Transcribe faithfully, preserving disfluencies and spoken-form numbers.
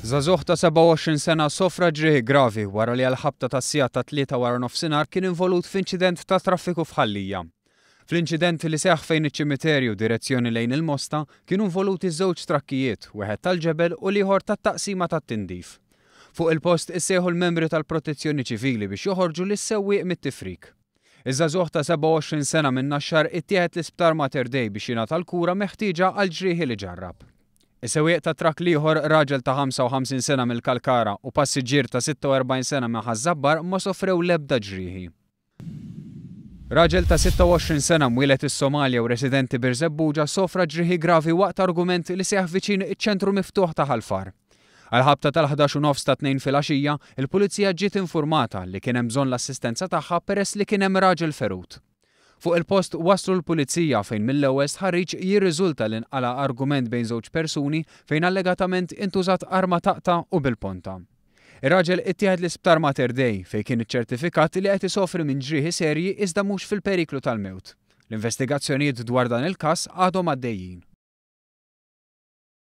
Żagħżugħ ta' sebgħa u għoxrin sena sofra ġrieħi gravi wara li għall-ħabta tas-siegħa tat-tlieta wara nofsinhar kien involut f'inċident ta' traffiku f'Ħal Lija. Fl-inċident li seħħ fejn iċ-ċimiterju direzzjoni lejn il-Mosta kienu involuti żewġ trakkijiet, wieħed tal-ġebel u l-ieħor tat-taqsima tat-tindif. Fuq il-post issejħu l-membri tal-Protezzjoni Ċivili biex joħorġu lis-sewwieq mit-tifrik. Iż-żagħżugħ ta' sebgħa u għoxrin sena minn Naxxar ittieħed l-isptar Mater Dei biex jingħata l-kura meħtieġa għal ġrieħi li ġarrab. Is-sewwieq ta' trakk l-ieħor, raġel ta' ħamsa u ħamsin sena mill-Kalkara u passiġġier ta' sitta u erbgħin sena minn Ħaż-Żabbar ma sofrew l-ebda ġrieħi. Raġel ta' sitta u għoxrin sena mwieled is-Somalja u residenti Birżebbuġa sofra ġrieħi gravi waqt argument li seħħ viċin iċ-ċentru miftuħ ta' Ħal Far. Għal-ħabta tal-ħdax u nofs ta' tnejn filgħaxija, il-pulizija ġiet informata li kien hemm bżonn l-assistenza tagħha peress li kien hemm raġel ferut. Fuq il-post waslu l-pulizija fejn mill-ewwel stħarriġ jirriżulta li nqala argument bejn żewġ persuni fejn allegatament intużat arma taqta' u bil-ponta. Ir-raġel ittieħed l-isptar Mater Dei fejn kien iċċertifikat li qed isofri minn ġrieħi serji iżda mhux fil-periklu tal-mewt. L-investigazzjonijiet dwar dan il-każ għadhom għaddejjin.